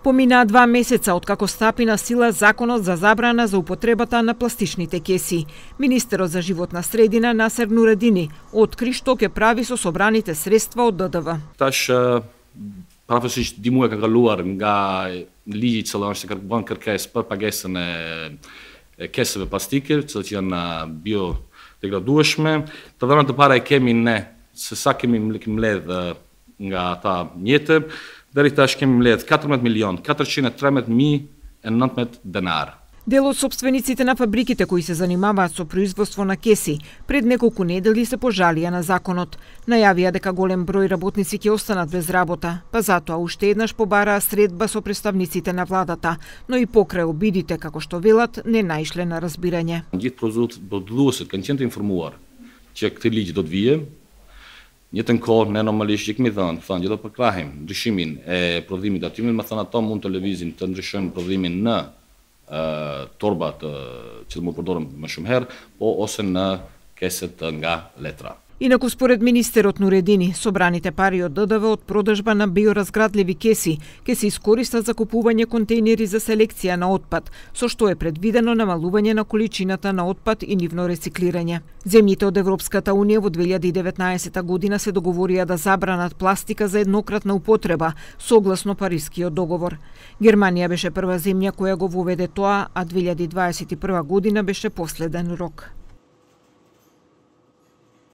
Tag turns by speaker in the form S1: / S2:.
S1: Поминаа 2 месеца откако стапи на сила законот за забрана за употребата на пластичните кеси. Министерот за животна средина Насер Нуредини откри што ќе прави со собраните средства од ДДВ.
S2: Tash prapësisht dimua ka kaluar nga ligji i cili është bën kërkesë për pagesën e kesëve plastike, të cilat janë biodegradueshme. Të dhënat e para e kemi ne se sa kemi mbledh nga ata mjete, deri tash kemi mbledh 14.413.019 denar.
S1: Дел од сопствениците на фабриките кои се занимаваат со производство на кеси пред неколку недели се пожалија на законот. Најавија дека голем број работници ќе останат без работа, па затоа уште еднаш побараа средба со представниците на владата, но и покрај обидите, како што велат, не наишле на разбирање.
S2: Gjithë prodhuesit kanë qenë të informuar që këtë ligj do të vijë. Njëtën kohë ne normalisht kemi thënë që do përkrahim ndryshimin e prodhimit aty, më thënë ato mund të lëvizin të ndryshojnë prodhimin në torbat që mund përdorëm më shumë herë, po ose në keset nga letra.
S1: Инаку според министерот Нуредини, собраните пари од ДДВ од продажба на биоразградливи кеси ќе се искористат за купување контејнери за селекција на отпад, со што е предвидено намалување на количината на отпад и нивно рециклирање. Земјите од Европската унија во 2019 година се договорија да забранат пластика за еднократна употреба, согласно Парискиот договор. Германија беше прва земја која го воведе тоа, а 2021 година беше последен рок.